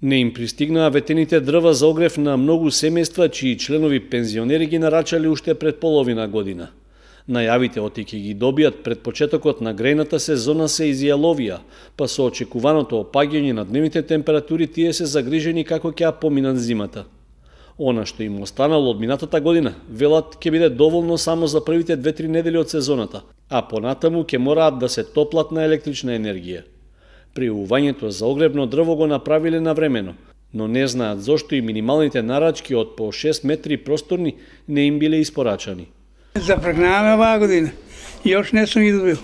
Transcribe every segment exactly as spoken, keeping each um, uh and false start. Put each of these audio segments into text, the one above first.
Не им пристигнаа ветените дрва за огрев на многу семејства чии членови пензионери ги нарачале уште пред половина година. Најавите оти ќе ги добијат пред почетокот на грејната сезона се изјаловија, па со очекуваното опаѓање на дневните температури тие се загрижени како ќе ја поминат зимата. Она што им останало од минатата година, велат, ќе биде доволно само за првите две-три недели од сезоната, а понатаму ќе мораат да се топлат на електрична енергија. Пријавувањето за огревно дрво го направиле навремено, но не знаат зошто и минималните нарачки од по шест метри просторни не им биле испорачани. Запрегнаваме оваа година. Још не сум ги добил.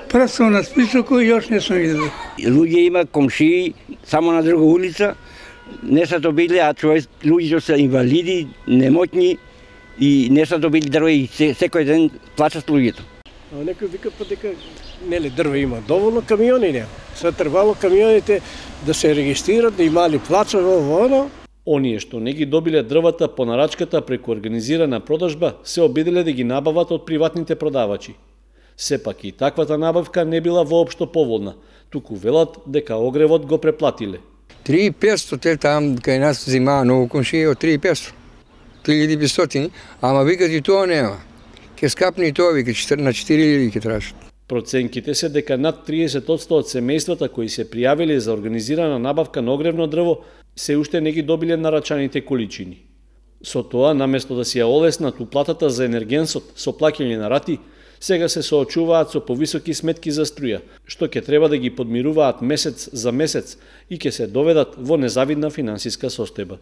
Прв сум на списоку и још не сум ги добил. Луѓе има комшии само на друга улица, не са добили, а човек, луѓето се инвалиди, немотни и не са добили дрво и секој ден плачат луѓето. А некој вика па дека нели дрво има доволно, камиони нема. Се требало камионите да се регистрират, да имали плацови во оно. Оние што не ги добиле дрвата по нарачката преку организирана продажба се обиделе да ги набават од приватните продавачи. Сепак и таквата набавка не била воопшто поволна, туку велат дека огревот го преплатиле. три и петсто те там кај нас зимаа многу комшии од три и петсто. три илјади и петстотини, ама викат и тоа нема. Ке скапни и тоа вика на четири илјади ке тражат. Проценките се дека над триесет одсто од семејствата кои се пријавиле за организирана набавка на огревно дрво се уште не ги добиле нарачаните количини. Со тоа, наместо да си ја олеснат уплатата за енергенсот со плаќање на рати, сега се соочуваат со повисоки сметки за струја, што ќе треба да ги подмируваат месец за месец и ќе се доведат во незавидна финансиска состојба.